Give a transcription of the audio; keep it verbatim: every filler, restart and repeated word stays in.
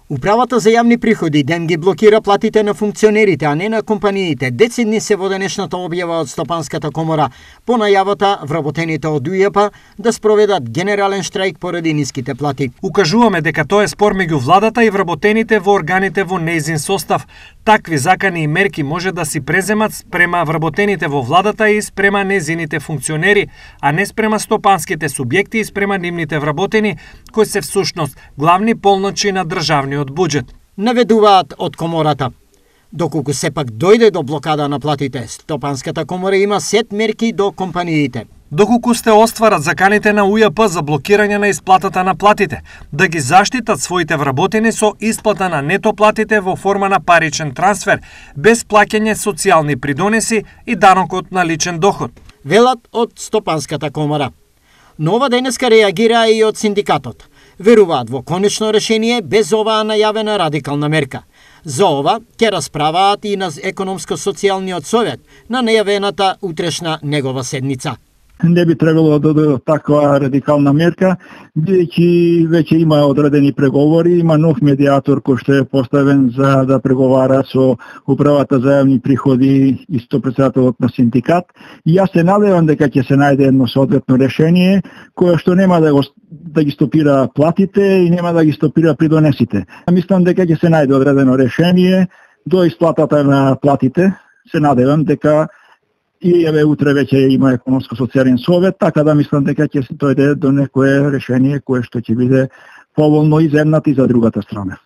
Управата за јавни приходи ден ги блокира платите на функционерите, а не на компаниите. Децидни се во денешната објава од Стопанската комора по најавата вработените од УЈП да спроведат генерален штрајк поради ниските плати. Укажуваме дека тоа е спор меѓу владата и вработените во органите во нејзин состав. Такви закани и мерки може да си преземат спрема вработените во владата и спрема нејзините функционери, а не спрема стопанските субјекти и спрема нивните вработени, кои се всушност главни полночи на државниот буџет. Наведуваат од комората. Доколку сепак дојде до блокада на платите, Стопанската комора има сет мерки до компаниите. Доколку сте остварат заканите на УЈП за блокирање на исплатата на платите, да ги заштитат своите вработени со исплата на нето платите во форма на паричен трансфер, без плаќање социјални придонеси и данокот на личен доход. Велат од Стопанската комора. Но ова денеска реагира и од синдикатот. Веруваат во конечно решение без оваа најавена радикална мерка. За ова ќе расправаат и на економско-социјалниот совет на најавената утрешна негова седница. Не би требало да дојде таква радикална мерка, бидејќи веќе има одредени преговори, има нов медиатор кој што е поставен за да преговара со управата за јавни приходи и со претседателот на синдикат. И јас се надевам дека ќе се најде едно соодветно решение кое што нема да го да ги стопира платите и нема да ги стопира придонесите. Мислам дека ќе се најде одредено решение до исплатата на платите. Се надевам дека и еве утре веќе има економско-социјален совет, така да мислам дека ќе се дојде до некое решение кое што ќе биде поволно и за едната и за другата страна.